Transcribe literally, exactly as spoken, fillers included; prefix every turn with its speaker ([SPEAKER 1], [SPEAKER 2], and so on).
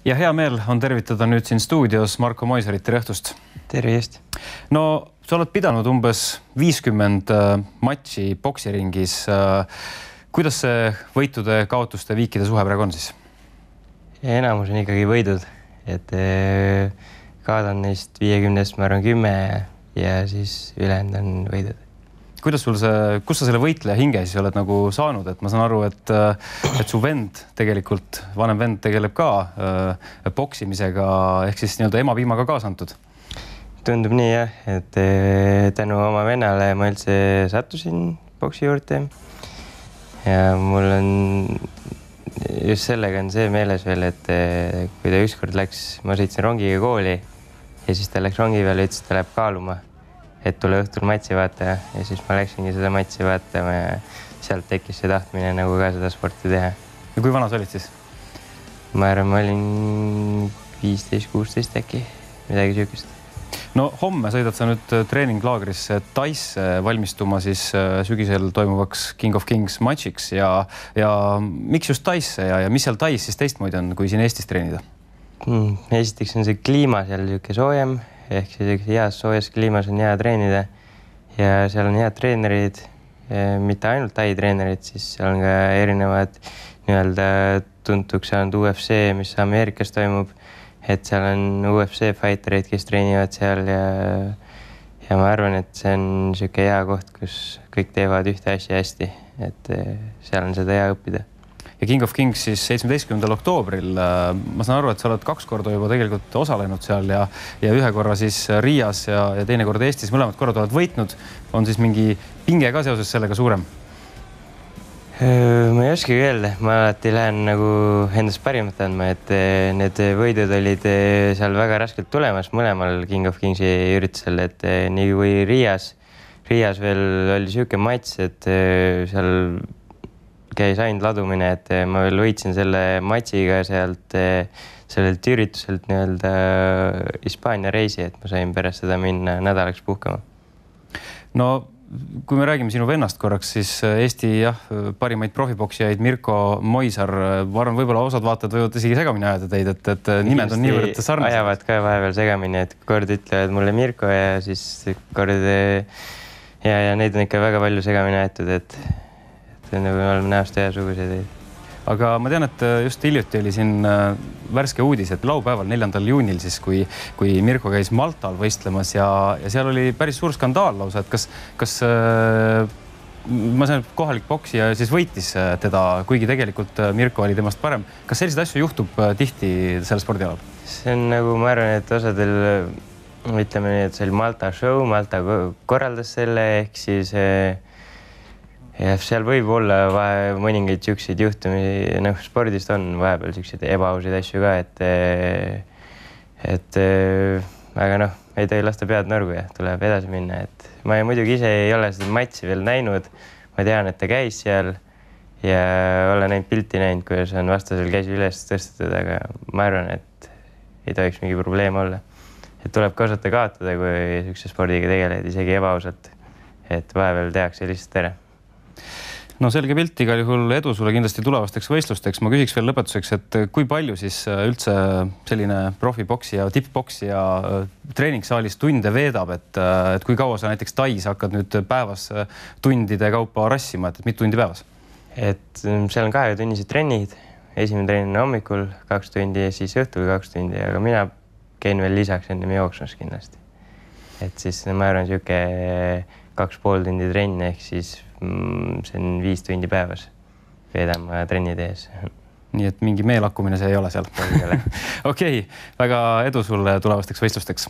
[SPEAKER 1] Ja hea meel on tervitada nüüd siin stuudios Marko Moisarit, tere õhtust.
[SPEAKER 2] Tervist.
[SPEAKER 1] No, sa oled pidanud umbes viiskümmend matši poksiringis. Kuidas see võitude, kaotuste, viikide suhe praegu on siis?
[SPEAKER 2] Enamus on ikkagi võidud, et kaotan neist viiekümnest, ma arvan, kümme ja siis ülejäänud on võidud.
[SPEAKER 1] Kuidas sul see, kus sa selle võitleja hinge siis oled nagu saanud? Et ma saan aru, et, et su vend tegelikult, vanem vend tegeleb ka äh, poksimisega ehk siis nii-öelda emapiimaga kaasa antud.
[SPEAKER 2] Tundub nii jah, et tänu oma vennale ma üldse sattusin poksi juurde. Ja mul on just sellega on see meeles veel, et kui ta ükskord läks, ma sõitsin rongiga kooli ja siis ta läks rongi peale ja ütles, et ta läheb kaaluma, et tule õhtul matsi vaata ja siis ma läksingi seda matsi vaatama ja sealt tekkis see tahtmine nagu ka seda sporti teha.
[SPEAKER 1] Ja kui vana sa olid siis?
[SPEAKER 2] Ma arvan, ma olin viisteist kuusteist äkki, midagi süükest.
[SPEAKER 1] No homme sõidad sa nüüd treeninglaagrisse Taisse valmistuma siis sügisel toimuvaks King of Kings matšiks ja, ja miks just Taisse ja, ja mis seal Tais siis teistmoodi on, kui siin Eestis treenida?
[SPEAKER 2] Hmm, esiteks on see kliima seal niisugune soojem, ehk siis heas soojas kliimas on hea treenida ja seal on head treenerid, mitte ainult Tai treenerid, siis seal on ka erinevad nii-öelda tuntuks saanud U F C, mis Ameerikas toimub, et seal on U F C fightereid, kes treenivad seal ja, ja ma arvan, et see on niisugune hea koht, kus kõik teevad ühte asja hästi, et seal on seda hea õppida.
[SPEAKER 1] Ja King of Kings siis seitsmeteistkümnendal oktoobril. Ma saan aru, et sa oled kaks korda juba tegelikult osalenud seal ja, ja ühe korra siis Riias ja, ja teine kord Eestis. Mõlemad korrad oled võitnud. On siis mingi pinge ka seoses sellega suurem?
[SPEAKER 2] Ma ei oskagi öelda. Ma alati lähen nagu endast parimat andma, et need võidud olid seal väga raskelt tulemas mõlemal King of Kingsi üritusel, et nii kui Riias, Riias veel oli siuke mats, et seal käis ainult ladumine, et ma veel võitsin selle matšiga sealt, sellelt ürituselt nii-öelda Hispaania reisi, et ma sain pärast seda minna nädalaks puhkama.
[SPEAKER 1] No, kui me räägime sinu vennast korraks, siis Eesti jah, parimaid profipoksijaid Mirko Moisar, ma arvan, võib-olla osad vaatajad võivad isegi segamini ajada teid, et, et nimed on niivõrd sarnased.
[SPEAKER 2] Ajavad ka vahepeal segamini, et kord ütlevad mulle Mirko ja siis kord ja, ja neid on ikka väga palju segamini aetud, et me oleme näost ühesugused.
[SPEAKER 1] Aga ma tean, et just hiljuti oli siin värske uudis, et laupäeval neljandal juunil siis, kui, kui Mirko käis Maltal võistlemas ja, ja seal oli päris suur skandaal lausa, et kas, kas ma saan, kohalik poksija siis võitis teda, kuigi tegelikult Mirko oli temast parem. Kas selliseid asju juhtub tihti selle spordialal? See
[SPEAKER 2] on nagu, ma arvan, et osadel, ütleme nii, et see oli Malta show, Malta korraldas selle, ehk siis ja seal võib olla vahe mõningaid siukseid juhtumi, noh, spordist on vahepeal siukseid ebaausid asju ka, et, et aga noh, ei tohi lasta pead nõrgu ja tuleb edasi minna, et ma ei, muidugi ise ei ole seda matši veel näinud, ma tean, et ta käis seal ja olen näinud pilti näinud, kuidas on vastasel käsi üles tõstetud, aga ma arvan, et ei tohiks mingi probleem olla. Et tuleb ka osata kaotada, kui siukse spordiga tegeled, isegi ebaausalt, et vahepeal tehakse lihtsalt ära.
[SPEAKER 1] No selge pilt, igal juhul edu sulle kindlasti tulevasteks võistlusteks. Ma küsiks veel lõpetuseks, et kui palju siis üldse selline profipoksija, tipppoksija treeningsaalis tunde veedab, et, et kui kaua sa näiteks Tais hakkad nüüd päevas tundide kaupa rassima, et mitu tundi päevas?
[SPEAKER 2] Et seal on kahetunnised trennid, esimene trenn on hommikul kaks tundi ja siis õhtul kaks tundi, aga mina käin veel lisaks enne jooksmas kindlasti. Et siis ma arvan siuke kaks pool tundi trenn, ehk siis see on viis tundi päevas veedama trennide ees.
[SPEAKER 1] Nii et mingi meelakkumine see ei ole seal? Okei, väga edu sulle tulevasteks võistlusteks.